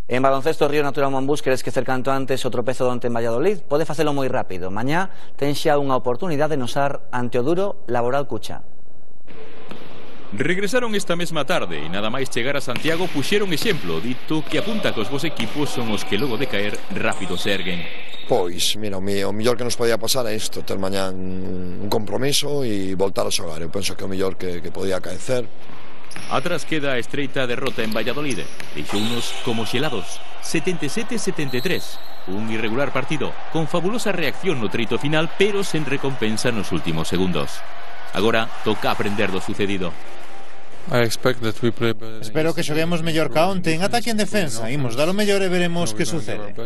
En baloncesto, Río Natura Monbús quere esquecer canto antes o tropezo onte en Valladolid. Pode facelo moi rápido. Mañá ten xa unha oportunidade de nosar ante o duro Laboral Cucha. Regresaron esta mesma tarde e nada máis chegar a Santiago puxeron exemplo, dito que apunta que os vos equipos son os que logo de caer rápido se erguen. Pois, mira, o mellor que nos podía pasar é isto, ter mañán un compromiso e voltar a xogar. Eu penso que o mellor que podía acaecer. Atrás queda a estreita derrota en Valladolid. Deixounos como xelados. 77-73. Un irregular partido, con fabulosa reacción no treito final, pero sen recompensa nos últimos segundos. Agora toca aprender do sucedido. Espero que xoguemos mellor ca onte en ataque e en defensa. Imos dar o mellor e veremos que sucede.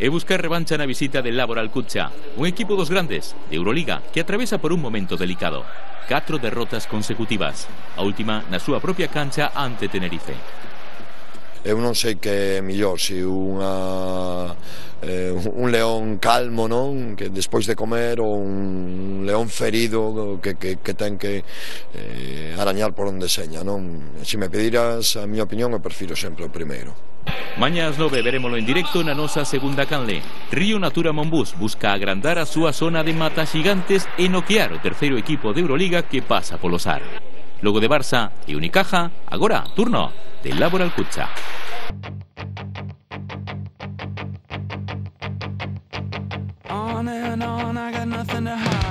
E buscar revancha na visita del Laboral Cucha, un equipo dos grandes, de Euroliga, que atravesa por un momento delicado. 4 derrotas consecutivas, a última na súa propia cancha ante Tenerife. Eu non sei que é mellor, se un león calmo, non, que despois de comer, ou un león ferido que ten que arañar por onde seña, non? Se me pediras a miña opinión, eu prefiro sempre o primeiro. Mañá ás 9 verémolo en directo na nosa segunda canle. Río Natura Monbús busca agrandar a súa zona de mata xigantes e noquear o terceiro equipo de Euroliga que pasa polo SAR. Logo de Barça e Unicaja, agora turno del Laboral Cucha. On and on, I got nothing to hide.